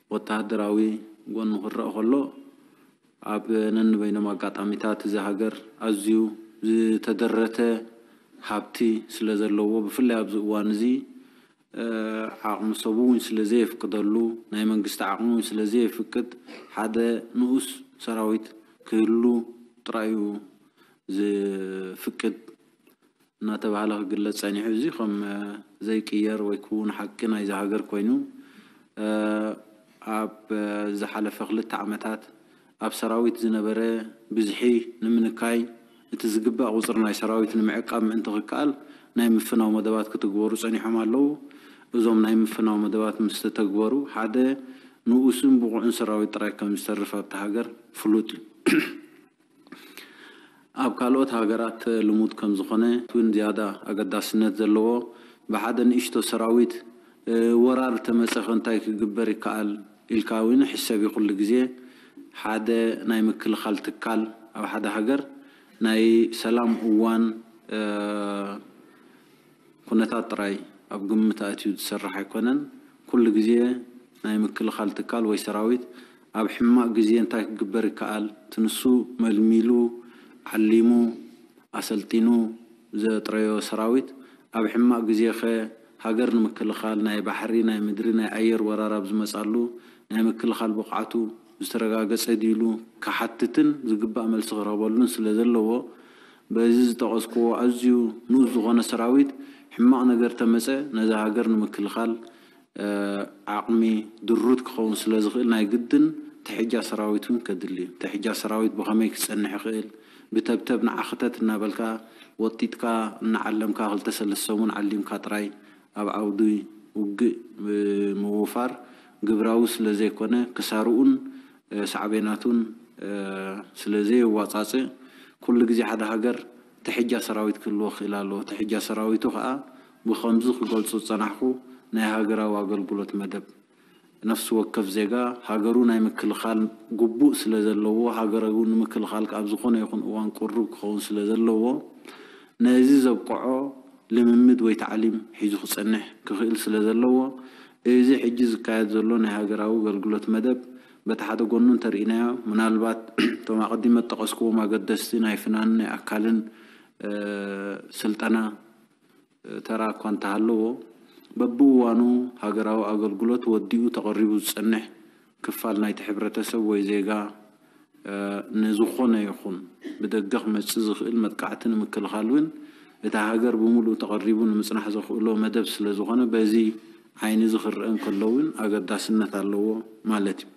ብወተሃደራዊ ጎኑ ክረአ ከሎ፣ ኣብ ነንበይኖም ኣጋጣሚታት እዚ ሃገር ኣዝዩ ዝተደረተ ሃብቲ ስለ ዘለዎ፣ ብፍላይ ኣብዚ እዋን እዚ፣ እ፣ ዓቕሚ ሰቡ እውን ስለ ዘየፍቅደሉ፣ ናይ መንግስቲ ዓቕሚ እውን ስለ ዘየፍቅድ፣ ሓደ ንኡስ ሰራዊት ክህሉ ጥራይ እዩ ዝፍቅድ እናተባህለ ክግለጽ ጸኒሑ። እዚ ከም፣ እ፣ ዘይቅየር ወይ ክውን ሓቂ ናይዚ ሃገር ኮይኑ፣ እ፣ ኣብ፣ እ፣ ዝሓለፈ ክልተ ዓመታት ኣብ ሰራዊት ዝነበረ ብዝሒ ንምንካይ፣ እቲ ዝግባእ ቁጽሪ ናይ ሰራዊት ንምዕቃብ ምእንቲ ክከኣል ናይ ምፍናው መደባት ክትግበሩ ጸኒሖም ኣለዉ። እዞም ናይ ምፍናው መደባት ምስ ተተግበሩ፣ ሓደ ንኡስን ብቑዕን ሰራዊት ጥራይ ከም ዝተርፍ ኣብታ ሃገር ፍሉጥ እዩ። ኣብ ካልኦት ሃገራት ልሙድ ከም ዝኾነ እውን ዝያዳ ኣገዳስነት ዘለዎ፣ ብሓደ ንእሽቶ ሰራዊት፣ እ፣ ወራር ተመጸኸ እንታይ ክግበር ይከኣል ኢልካ እውን ሕሰብ እዩ። ኩሉ ግዜ ሓደ ናይ ምክልኻል ትካል ኣብ ሓደ ሃገር ናይ ሰላም እዋን፣ እ፣ ኩነታት ጥራይ ኣብ ግምት ኣእትዩ ዝሰርሕ ኣይኮነን። ኩሉ ግዜ ናይ ምክልኻል ትካል ወይ ሰራዊት ኣብ ሕማቕ ግዜ እንታይ ክግበር ይከኣል፣ እቲ ንሱ መልሚሉ፣ ዓሊሙ፣ ኣሰልጢኑ ዘጥረዮ ሰራዊት ኣብ ሕማቕ ግዜኸ ሃገር ንምክልኻል ናይ ባሕሪ፣ ናይ ምድሪ፣ ናይ ኣየር ወራር ኣብ ዝመጻሉ ናይ ምክልኻል ብቕዓቱ ዝተረጋገጸ ድዩ ኢሉ ክሓትትን ዝግባእ መልሲ ክረኽበሉን ስለ ዘለዎ፣ በዚ ዝጠቐስክዎ ኣዝዩ ንኡስ ዝኾነ ሰራዊት ሕማቕ ነገር ተመጸ ነዛ ሃገር ንምክልኻል፣ እ፣ ዓቕሚ ድሩት ክኸውን ስለ ዝኽእል ናይ ግድን ትሕጃ ሰራዊት እውን ከድሊ እዩ። ትሕጃ ሰራዊት ብኸመይ ክጸንሕ ይኽእል? ብተብተብ ንዓ ክተት እናበልካ ወጢጥካ እናዓለምካ ክልተ ሰለስተ ሰሙን ዓሊምካ ጥራይ ኣብ ዓውዲ ውግእ፣ እ፣ ምውፋር ግብራዊ ስለ ዘይኮነ ክሳርኡን፣ እ፣ ሳዕቤናቱን፣ እ፣ ስለ ዘየዋጻጽእ ኩሉ ግዜ ሓደ ሃገር ትሕጃ ሰራዊት ክህልዎ ክኽእል ኣለዎ። ትሕጃ ሰራዊቱ ከኣ ብኸምዚ ክገልጾ ዝጸናሕኩ ናይ ሃገራዊ ኣገልግሎት መደብ። ነፍሲ ወከፍ ዜጋ ሃገሩ ናይ ምክልኻል ግቡእ ስለ ዘለዎ፣ ሃገሩ ንምክልኻል ኣብ ዝኾነ ይኹን እዋን ቅሩብ ክኸውን ስለ ዘለዎ፣ ነዚ ዘብቅዖ ልምምድ ወይ ታዕሊም ሒዙ ክጸንሕ ክኽእል ስለ ዘለዎ፣ እዚ ሕጂ ዝካየድ ዘሎ ናይ ሃገራዊ ኣገልግሎት መደብ በቲ ሓደ ጎኑ እንተርኢናዮ፣ ምናልባት እቶም ኣቐዲመ ዝጠቐስክዎም ኣገደስቲ ናይ ፍናን፣ ናይ ኣካልን፣ እ፣ ስልጠና፣ እ፣ ተራ እኳ እንተሃለዎ፣ በብእዋኑ ሃገራዊ ኣገልግሎት ወዲኡ ተቐሪቡ ዝጸንሕ ክፋል ናይቲ ሕብረተሰብ ወይ ዜጋ፣ እ፣ ንዝኾነ ይኹን ብደገ ክመጽእ ዝኽእል መጥቃዕቲ ንምክልኻል እውን እታ ሃገር ብምሉኡ ተቐሪቡ ንምጽናሕ ዘኽእሎ መደብ ስለ ዝኾነ፣ በዚ ዓይኒ እዚ ክረአ እንከሎ እውን ኣገዳስነት ኣለዎ ማለት እዩ።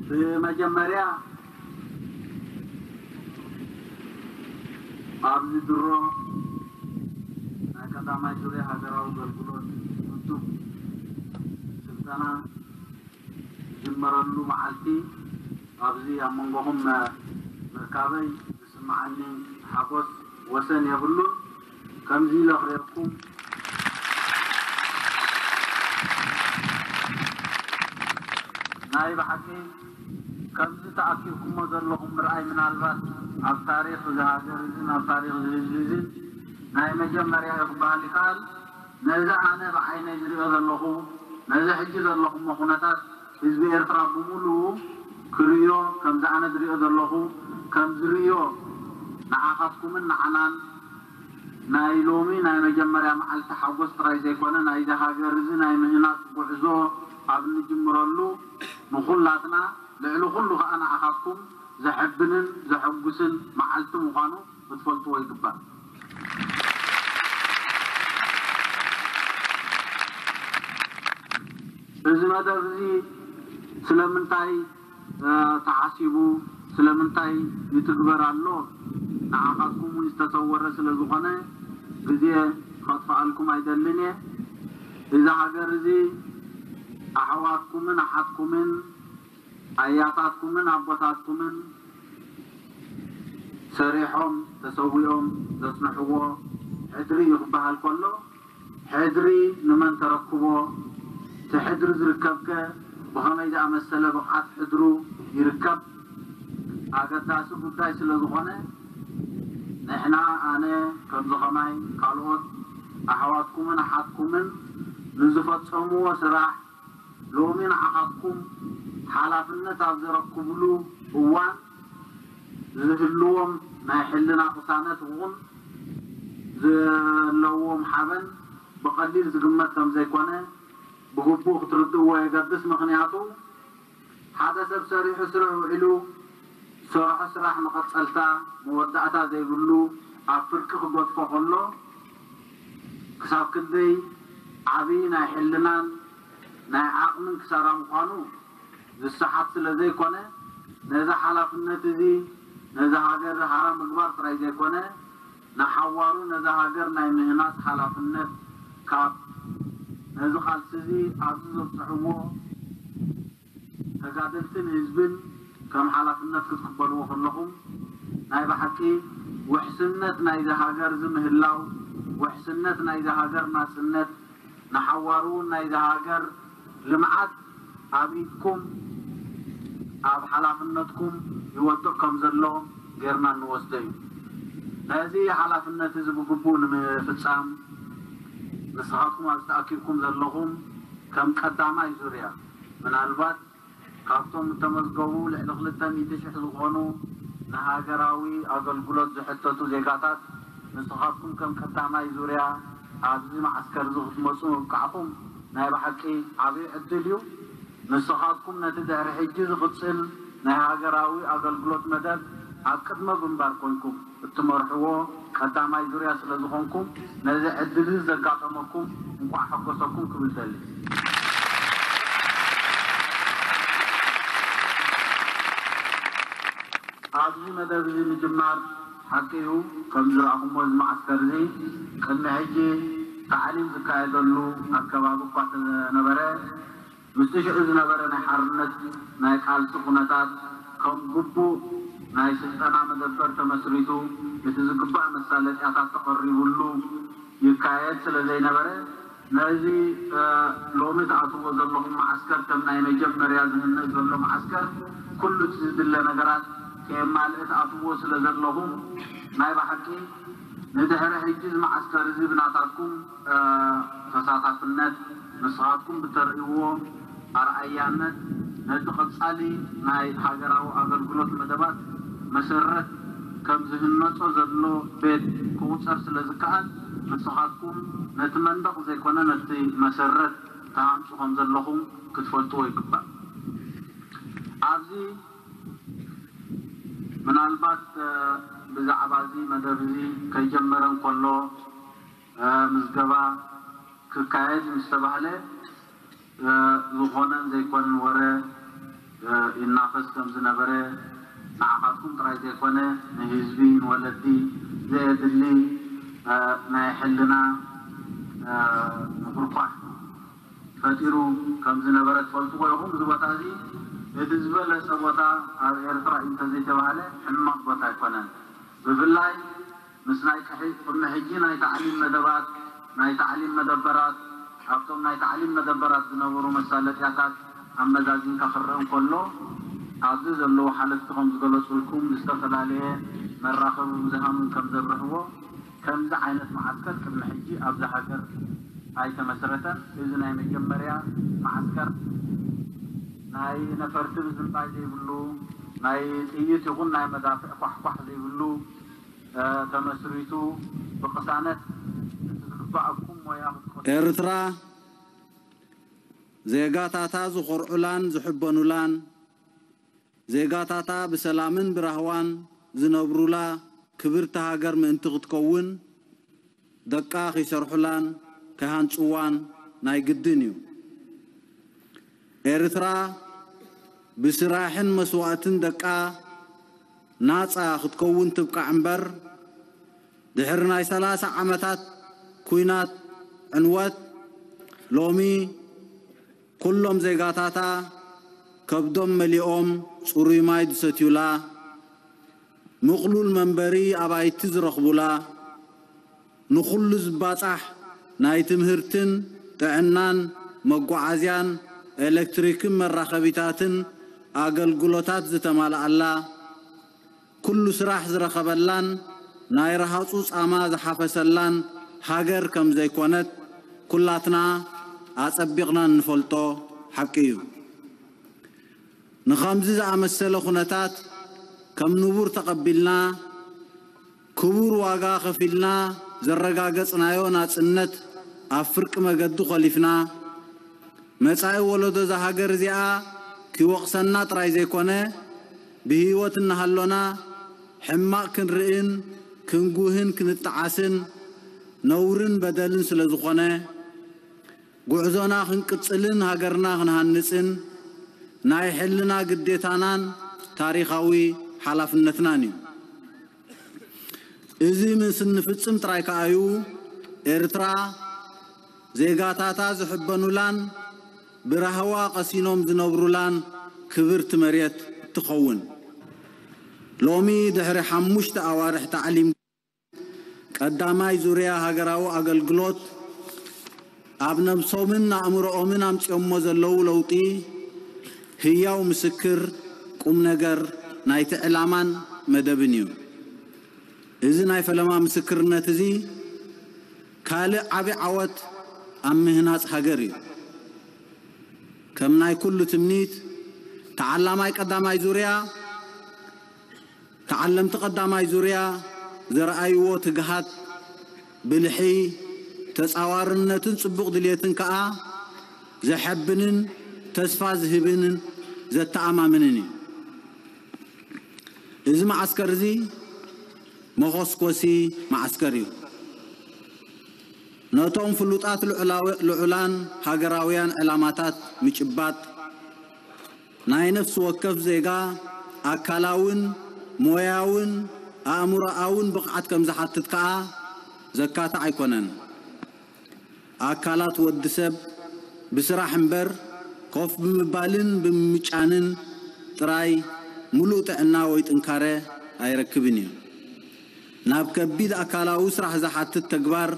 ብመጀመርያ ኣብዚ ድሮ ናይ ቀዳማይ ዙርያ ሃገራዊ ኣገልግሎት ውድብ ስልጠና ዝጅመረሉ መዓልቲ ኣብዚ ኣብ መንጎኹም ምርካበይ ዝስምዓኒ ሓጎስ ወሰን የብሉን። ከምዚ ኢለ ክርእየኩም ናይ ብሓቂ ከምዚ ተኣኪብኩሞ ዘለኹም ምርኣይ ምናልባት ኣብ ታሪኽ እዚ ሃገር እዝን ኣብ ታሪኽ እዚ ህዝቢ እዝን ናይ መጀመርያ እዩ ክበሃል ይከኣል። ነዚ ኣነ ብዓይነይ ዝሪኦ ዘለኹ፣ ነዚ ሕጂ ዘለኹሞ ኩነታት ህዝቢ ኤርትራ ብምሉኡ ክርእዮ፣ ከምዚ ኣነ ዝሪኦ ዘለኹ፣ ከም ዝርእዮ ንዓኻትኩምን ንዓናን ናይ ሎሚ ናይ መጀመርያ መዓልቲ ሓጎስ ጥራይ ዘይኮነ፣ ናይዚ ሃገር እዚ ናይ ምህናጽ ጉዕዞ ኣብ እንጅምረሉ ንኹላትና፣ ልዕሊ ኩሉ ከኣ ንዓኻትኩም ዘሐብንን ዘሐጉስን መዓልቲ ምዃኑ ክትፈልጥዎ ይግባእ። እዚ መደብ እዚ ስለምንታይ፣ እ፣ ተሓሲቡ፣ ስለምንታይ ይትግበር ኣሎ፣ ንዓኻትኩም እውን ዝተሰወረ ስለ ዝኾነ ግዜ ከጥፍኣልኩም ኣይደልን እየ። እዚ ሃገር እዚ ኣሕዋትኩምን ኣሓትኩምን ኣያታትኩምን ኣቦታትኩምን ሰሪሖም ተሰዊኦም ዘጽንሕዎ ሕድሪ እዩ ክበሃል ከሎ፣ ሕድሪ ንመን ተረክቦ? እቲ ሕድሪ ዝርከብከ ብኸመይ ዝኣመሰለ ብቕዓት ሕድሩ ይርከብ? ኣገዳሲ ጉዳይ ስለ ዝኾነ፣ ንሕና፣ ኣነ፣ ከምዚ ኸማይ ካልኦት ኣሕዋትኩምን ኣሓትኩምን ንዝፈጸምዎ ስራሕ፣ ሎሚ ንዓኻትኩም ሓላፍነት ኣብ ዘረክብሉ እዋን ዝህልዎም ናይ ሕልና ቅሳነት እውን ዘለዎም ሓበን ብቐሊል ዝግመት ከም ዘይኮነ ብግቡእ ክትርድእዎ የገድስ። ምኽንያቱ ሓደ ሰብ ሰሪሑ ስርሑ ውዒሉ ዝሰርሖ ስራሕ መቐጸልታ መወዳእታ ዘይብሉ ኣብ ፍርቂ ክገድፎ ከሎ ክሳብ ክንደይ ዓቢ ናይ ሕልናን ናይ ዓቕምን ክሳራ ምዃኑ ዝሰሓት ስለ ዘይኮነ፣ ነዚ ሓላፍነት እዚ ነዛ ሃገር ሃራ ምግባር ጥራይ ዘይኮነ፣ ንሓዋሩ ነዛ ሃገር ናይ ምህናጽ ሓላፍነት ካብ ነዚ ቃልሲ እዚ ኣብዚ ዘብጽሕዎ ተጋደልትን ህዝብን ከም ሓላፍነት ክትቅበልዎ ከለኹም፣ ናይ ብሓቂ ውሕስነት ናይዚ ሃገር እዚ ምህላው፣ ውሕስነት ናይዚ ሃገር ናጽነት፣ ንሓዋሩ እውን ናይዚ ሃገር ልምዓት ኣብ ኢድኩም፣ ኣብ ሓላፍነትኩም ይወድቕ ከም ዘሎ ጌርና እንወስዶ እዩ። ነዚ ሓላፍነት እዚ ብግቡእ ንምፍጻም፣ ንስኻትኩም ኣብዚ ተኣኪብኩም ዘለኹም ከም ቀዳማይ ዙርያ፣ ምናልባት ካብቶም እተመዝገቡ ልዕሊ ክልተ ሚእቲ ሽሕ ዝኾኑ ንሃገራዊ ኣገልግሎት ዝሕተቱ ዜጋታት፣ ንስኻትኩም ከም ቀዳማይ ዙርያ ኣብዚ መዓስከር እዚ ክትመጹ ምብቃዕኩም ናይ ብሓቂ ዓብዪ ዕድል እዩ። ንስኻትኩም ነቲ ድሕሪ ሕጂ ዝቕጽል ናይ ሃገራዊ ኣገልግሎት መደብ ኣብ ቅድመ ግንባር ኮንኩም እትመርሕዎ ቀዳማይ ዙርያ ስለ ዝኾንኩም፣ ነዚ ዕድል እዚ ዘጋጠመኩም እንቋዕ ሓጎሰኩም ክብል ደሊ። ኣብዚ መደብ እዚ ምጅማር ሓቂ እዩ። ከም ዝረኣኹሞ እዚ መዓስከር እዚ ቅድሚ ሕጂ ታዕሊም ዝካየደሉ ኣከባቢ እኳ እንተነበረ፣ ምስቲ ሽዑ ዝነበረ ናይ ሓርነት ናይ ቃልሲ ኩነታት ከም ግቡእ ናይ ስልጠና መደበር ተመስሪቱ፣ እቲ ዝግባእ መሳለጥያታት ተቐሪቡሉ ይካየድ ስለ ዘይነበረ፣ ነዚ፣ እ፣ ሎሚ ትኣትዎ ዘለኹም መዓስከር ከም ናይ መጀመርያ ዝህነጽ ዘሎ መዓስከር ኩሉ እቲ ዝድለ ነገራት ከየማልእ ትኣትዎ ስለ ዘለኹም፣ ናይ ብሓቂ ንድሕሪ ሕጂ እዚ መዓስከር እዚ ብናታትኩም፣ እ፣ ተሳታፍነት ንስኻትኩም ብተርእይዎ ኣርኣያነት ነቲ ቀጻሊ ናይ ሃገራዊ ኣገልግሎት መደባት መሰረት ከም ዝህነጾ ዘሎ ቤት ክቑጸር ስለ ዝከኣል፣ ንስኻትኩም ነቲ መንደቕ ዘይኮነ ነቲ መሰረት ትሃንጹ ከም ዘለኹም ክትፈልጥዎ ይግባእ። ኣብዚ ምናልባት፣ እ፣ ብዛዕባ እዚ መደብ እዚ ከይጀመረ እንከሎ፣ እ፣ ምዝገባ ክካየድ ምስ ተባህለ፣ እ፣ ዝኾነን ዘይኮነን ወረ፣ እ፣ ይናፈስ ከም ዝነበረ ንዓኻትኩም ጥራይ ዘይኮነ ንህዝቢ፣ ንወለዲ ዘየድሊ፣ እ፣ ናይ ሕልና፣ እ፣ ምኹርኳሕ ፈጢሩ ከም ዝነበረ ትፈልጥዎ ኢኹም። እዚ ቦታ እዚ እቲ ዝበለጸ ቦታ ኣብ ኤርትራ እዩ እንተዘይተባህለ ሕማቕ ቦታ ኣይኮነን። ብፍላይ ምስ ናይ ቅሒ-፣ ቅድሚ ሕጂ ናይ ታዕሊም መደባት፣ ናይ ታዕሊም መደበራት፣ ኣብቶም ናይ ታዕሊም መደበራት ዝነበሩ መሳለጥያታት ኣመዛዚንካ ክረአ እንከሎ፣ ኣብዚ ዘለዉ ሓለፍቲ ከም ዝገለጹልኩም፣ ዝተፈላለየ መራኸቢ ብዙሃን እውን ከም ዘብርህዎ፣ ከምዚ ዓይነት መዓስከር ቅድሚ ሕጂ ኣብዛ ሃገር ኣይተመስረተን። እዚ ናይ መጀመርያ መዓስከር ናይ ነፈርቲ ምዝንባይ ዘይብሉ፣ ናይ ጥይት ይኹን ናይ መዳፍዕ ኳሕኳሕ ዘይብሉ፣ እ፣ ተመስሪቱ ብቅሳነት እቲ ዝግባኣኩም ሞያ ክትከዱ ኤርትራ ዜጋታታ ዝኾርዑላን ዝሕበኑላን፣ ዜጋታታ ብሰላምን ብራህዋን ዝነብሩላ ክብርቲ ሃገር ምእንቲ ክትከውን፣ ደቃ ከይሰርሑላን ከይሃንጽዋን ናይ ግድን እዩ። ኤርትራ ብስራሕን መስዋእትን ደቃ ናጻ ክትከውን ትብቃዕ እምበር፣ ድሕሪ ናይ ሰላሳ ዓመታት ኲናት ዕንወት፣ ሎሚ ኩሎም ዜጋታታ ከብዶም መሊኦም ጽሩይ ማይ ዝሰትዩላ፣ ምቕሉል መንበሪ ኣባይቲ ዝረኽቡላ፣ ንኹሉ ዝባጻሕ ናይ ትምህርትን ጥዕናን መጓዓዝያን ኤሌክትሪክን መራኸቢታትን ኣገልግሎታት ዝተማልኣላ፣ ኩሉ ስራሕ ዝረኸበላን ናይ ረሃጹ ጻማ ዝሓፈሰላን ሃገር ከም ዘይኮነት ኩላትና ኣጸቢቕና እንፈልጦ ሓቂ እዩ። ንኸምዚ ዝኣመሰለ ኩነታት ከም ንቡር ተቐቢልና፣ ክቡር ዋጋ ከፊልና ዘረጋገጽናዮ ናጽነት ኣብ ፍርቂ መገዱ ኮሊፍና፣ መጻኢ ወለዶ እዛ ሃገር እዚኣ ክወቕሰና ጥራይ ዘይኮነ፣ ብህይወት እናሃሎና ሕማቕ ክንርእን ክንጉህን ክንጠዓስን ነውርን በደልን ስለ ዝኾነ፣ ጉዕዞና ክንቅጽልን ሃገርና ክንሃንጽን ናይ ሕልና ግዴታናን ታሪኻዊ ሓላፍነትናን እዩ። እዚ ምስ እንፍጽም ጥራይ ከኣ እዩ ኤርትራ ዜጋታታ ዝሕበኑላን ብራህዋ ቀሲኖም ዝነብሩላን ክብርቲ መሬት እትኸውን። ሎሚ ድሕሪ ሓሙሽተ ኣዋርሕ ታዕሊም ቀዳማይ ዙርያ ሃገራዊ ኣገልግሎት ኣብ ነብሶምን ኣእምሮኦምን ኣምጺኦሞ ዘለዉ ለውጢ ህያው ምስክር ቁም ነገር ናይቲ ዕላማን መደብን እዩ። እዚ ናይ ፈለማ ምስክርነት እዚ ካልእ ዓቢ ዓወት ኣብ ምህናጽ ሃገር እዩ። ከም ናይ ኩሉ ትምኒት ተዓላማይ ቀዳማይ ዙርያ ተዓለምቲ ቀዳማይ ዙርያ ዘርኣይዎ ትግሃት፣ ብልሒ፣ ተጻዋርነትን ጽቡቕ ድልየትን ከኣ ዘሐብንን ተስፋ ዝህብን ዘተኣማምንን እዩ። እዚ መዓስከር እዚ መኾስኮሲ መዓስከር እዩ። ነቶም ፍሉጣት ልዑላዊ-፣ ልዑላን ሃገራውያን ዕላማታት ምጭባጥ ናይ ነፍሲ ወከፍ ዜጋ ኣካላውን ሞያውን ኣእምሮኣውን ብቕዓት ከም ዝሓትት ከኣ ዘካትዕ ኣይኮነን። ኣካላት ወዲ ሰብ ብስራሕ እምበር ኮፍ ብምባልን ብምምጫንን ጥራይ ምሉእ ጥዕና ወይ ጥንካረ ኣይረክብን እዩ። ናብ ከቢድ ኣካላዊ ስራሕ ዝሓትት ተግባር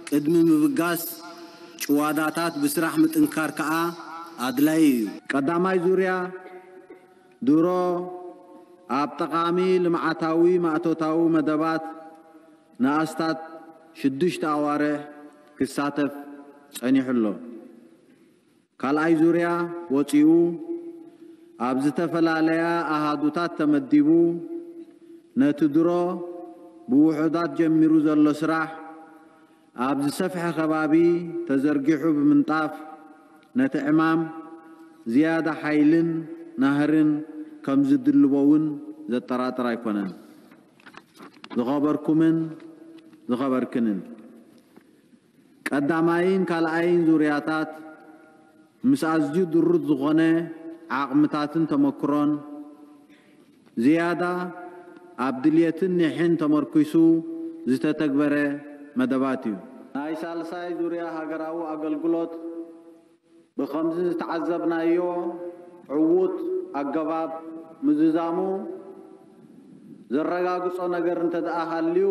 ቅድሚ ምብጋስ፣ ጭዋዳታት ብስራሕ ምጥንካር ከኣ ኣድላዪ እዩ። ቀዳማይ ዙርያ ድሮ ኣብ ጠቓሚ ልምዓታዊ ማእቶታዊ መደባት ንኣስታት ሽዱሽተ ኣዋርሕ ክሳተፍ ጸኒሑ ኣሎ። ካልኣይ ዙርያ ወጺኡ ኣብ ዝተፈላለያ ኣሃዱታት ተመዲቡ ነቲ ድሮ ብውሑዳት ጀሚሩ ዘሎ ስራሕ ኣብ ዝሰፍሐ ከባቢ ተዘርጊሑ ብምንጣፍ ነቲ ዕማም ዝያዳ ሓይልን ናህርን ከም ዝድልቦ እውን ዘጠራጥር ኣይኮነን። ዝኸበርኩምን ዝኸበርክንን፣ ቀዳማይን ካልኣይን ዙርያታት ምስ ኣዝዩ ድሩት ዝኾነ ዓቕምታትን ተመክሮን ዝያዳ ኣብ ድልየትን ኒሕን ተመርኲሱ ዝተተግበረ መደባት እዩ። ናይ ሳልሳይ ዙርያ ሃገራዊ ኣገልግሎት ብኸምዚ ዝተዓዘብናዮ ዕዉት ኣገባብ ምዝዛሙ ዘረጋግጾ ነገር እንተ ደኣ ሃልዩ፣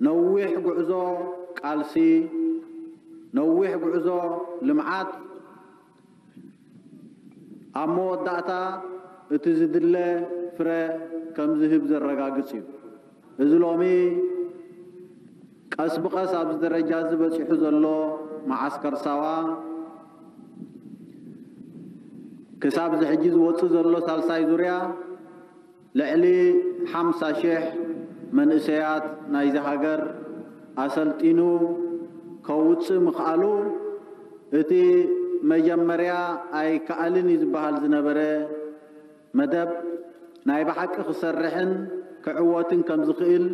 ነዊሕ ጉዕዞ ቃልሲ፣ ነዊሕ ጉዕዞ ልምዓት ኣብ መወዳእታ እቲ ዝድለ ፍረ ከም ዝህብ ዘረጋግጽ እዩ። እዚ ሎሚ ቀስ ብቐስ ኣብዚ ደረጃ እዚ በጺሑ ዘሎ መዓስከር ሳዋ፣ ክሳብ እዚ ሕጂ ዝወጽእ ዘሎ ሳልሳይ ዙርያ፣ ልዕሊ ሓምሳ ሽሕ መንእሰያት ናይዚ ሃገር ኣሰልጢኑ ከውጽእ ምኽኣሉ፣ እቲ መጀመርያ ኣይከኣልን እዩ ዝበሃል ዝነበረ መደብ፣ ናይ ብሓቂ ክሰርሕን ክዕወትን ከም ዝኽእል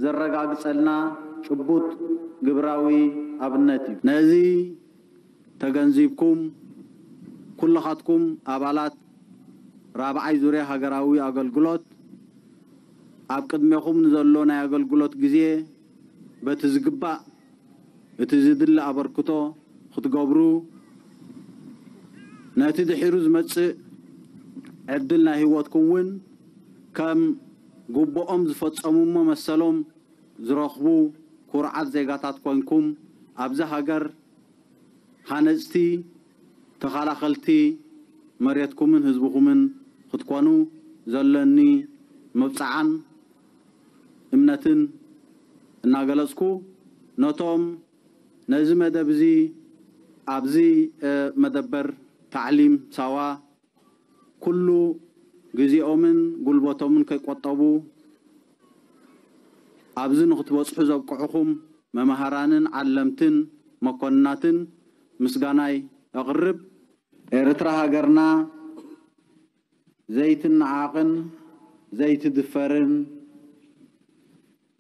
ዘረጋግጸልና ጭቡጥ ግብራዊ ኣብነት እዩ። ነዚ ተገንዚብኩም፣ ኩልኻትኩም ኣባላት ራብዓይ ዙርያ ሃገራዊ ኣገልግሎት፣ ኣብ ቅድሜኹም ንዘሎ ናይ ኣገልግሎት ግዜ በቲ ዝግባእ እቲ ዝድለ ኣበርክቶ ክትገብሩ ነቲ ድሒሩ ዝመጽእ ዕድል ናይ ህይወትኩም እውን ከም ግቡኦም ዝፈጸሙ እሞ መሰሎም ዝረኽቡ ኩርዓት ዜጋታት ኮንኩም ኣብዛ ሃገር ሃነጽቲ ተኸላኸልቲ መሬትኩምን ህዝብኹምን ክትኮኑ ዘለኒ መብጽዓን እምነትን እናገለጽኩ ነቶም ነዚ መደብ እዚ ኣብዚ መደበር ታዕሊም ሳዋ ኩሉ ግዜኦምን ጉልበቶምን ከይቆጠቡ ኣብዚ ንክትበጽሑ ዘብቅዕኹም መማህራንን ዓለምትን መኮንናትን ምስጋናይ ኣቕርብ። ኤርትራ ሃገርና ዘይትነዓቕን ዘይትድፈርን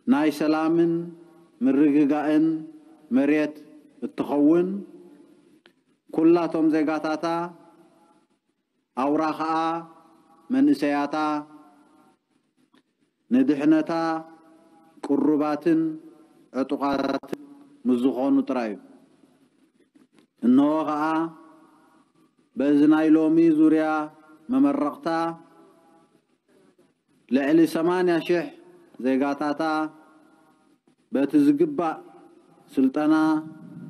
ናይ ሰላምን ምርግጋእን መሬት እትኸውን ኩላቶም ዜጋታታ ኣውራ ኸኣ መንእሰያታ ንድሕነታ ቅሩባትን ዕጡቓትን ምስ ዝኾኑ ጥራይ እዩ። እንሆ ኸኣ በዚ ናይ ሎሚ ዙርያ መመረቕታ ልዕሊ ሰማንያ ሽሕ ዜጋታታ በቲ ዝግባእ ስልጠና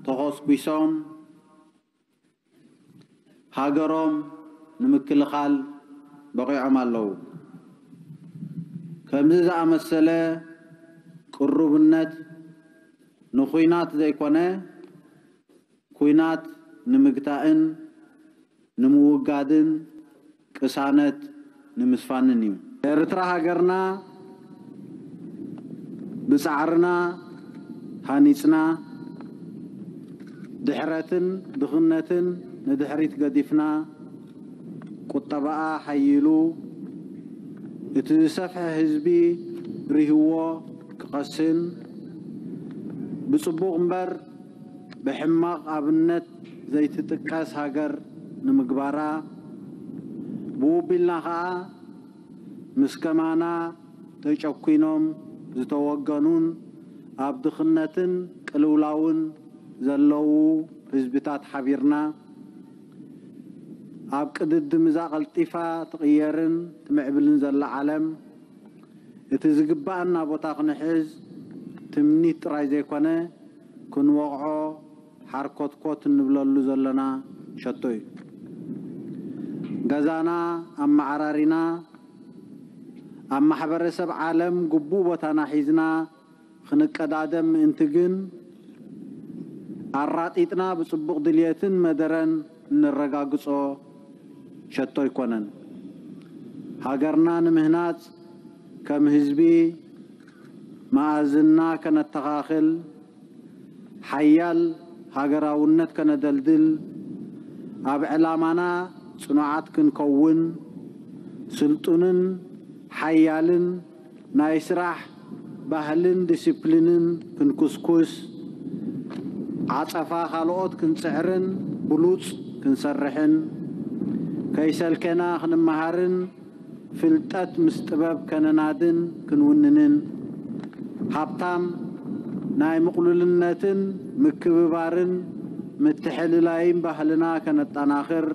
ተኾስኲሶም ሃገሮም ንምክልኻል በቒዖም ኣለዉ። ከምዚ ዝኣመሰለ ቅሩብነት ንኹናት ዘይኮነ ኩናት ንምግታእን ንምውጋድን ቅሳነት ንምስፋንን እዩ። ኤርትራ ሃገርና ብጻዕርና ሃኒጽና ድሕረትን ድኽነትን ንድሕሪት ገዲፍና ቁጠባኣ ሓይሉ እቲ ዝሰፍሐ ህዝቢ ሪህዎ ክቐስን ብጽቡቕ እምበር ብሕማቕ ኣብነት ዘይትጥቀስ ሃገር ንምግባራ ብውቢልና ኸኣ ምስ ከማና ተጨኲኖም ዝተወገኑን ኣብ ድኽነትን ቅልውላውን ዘለዉ ህዝብታት ሓቢርና ኣብ ቅድድም እዛ ቀልጢፋ ትቕየርን ትምዕብልን ዘላ ዓለም እቲ ዝግባኣና ቦታ ክንሕዝ ትምኒት ጥራይ ዘይኮነ ክንወቕዖ ሓርኮትኮት እንብለሉ ዘለና ሸቶ እዩ። ገዛና ኣመዓራሪና ኣብ ማሕበረሰብ ዓለም ግቡእ ቦታና ሒዝና ክንቀዳደም ምእንቲ ግን ኣራጢጥና ብጽቡቕ ድልየትን መደረን እንረጋግጾ ሸቶ ኣይኮነን። ሃገርና ንምህናጽ ከም ህዝቢ መኣዝንና ከነተኻኽል ሓያል ሃገራውነት ከነደልድል ኣብ ዕላማና ጽኑዓት ክንከውን ስልጡንን ሓያልን ናይ ስራሕ ባህልን ዲሲፕሊንን ክንኩስኩስ ዓጸፋ ካልኦት ክንጽዕርን ብሉጽ ክንሰርሕን ከይሰልከና ክንመሃርን ፍልጠት ምስ ጥበብ ከነናድን ክንውንንን ሃብታም ናይ ምቕሉልነትን ምክብባርን ምትሕልላይን ባህልና ከነጠናኽር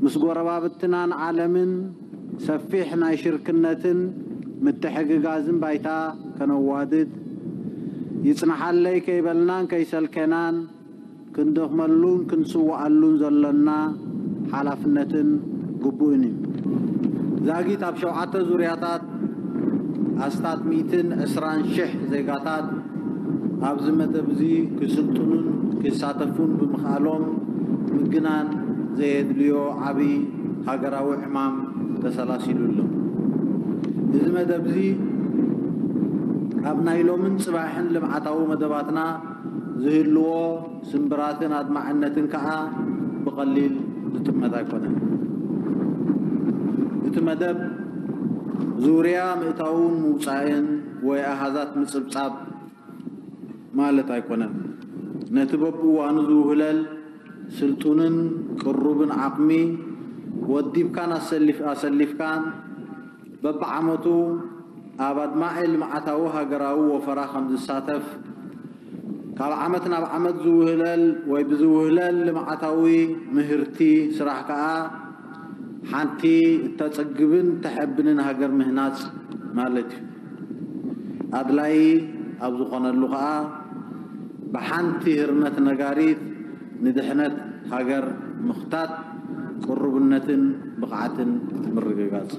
ምስ ጎረባብትናን ዓለምን ሰፊሕ ናይ ሽርክነትን ምትሕግጋዝን ባይታ ከነዋድድ ይጽንሓለይ ከይበልናን ከይሰልከናን ክንደኽመሉን ክንስዋኣሉን ዘሎና ሓላፍነትን ግቡእን እዩ። ዛጊት ኣብ ሸውዓተ ዙርያታት ኣስታት ሚእትን ዕስራን ሽሕ ዜጋታት ኣብዚ መደብ እዚ ክስልጥኑን ክሳተፉን ብምኽኣሎም ምግናን ዘየድልዮ ዓቢ ሃገራዊ ዕማም ተሰላሲሉ ኣሎ። እዚ መደብ እዚ ኣብ ናይ ሎምን ጽባሕን ልምዓታዊ መደባትና ዝህልዎ ስምብራትን ኣድማዕነትን ከኣ ብቐሊል ዝጥመት ኣይኮነን። እቲ መደብ ዙርያ ምእታውን ምውጻእን ወይ ኣሃዛት ምጽብጻብ ማለት ኣይኮነን። ነቲ በብእዋኑ ዝውህለል ስልጡንን ቅሩብን ዓቕሚ ወዲብካን ኣሰሊፍ- ኣሰሊፍካን በብዓመቱ ኣብ ኣድማዒ ልምዓታዊ ሃገራዊ ወፈራ ከም ዝሳተፍ ካብ ዓመት ናብ ዓመት ዝውህለል ወይ ብዝውህለል ልምዓታዊ ምህርቲ ስራሕ ከኣ ሓንቲ እተጸግብን ተሐብንን ሃገር ምህናጽ ማለት እዩ። ኣድላይ ኣብ ዝኾነሉ ከኣ ብሓንቲ ህርመት ነጋሪት ንድሕነት ሃገር ምኽታት ቅሩብነትን ብቕዓትን ምርግጋጽ።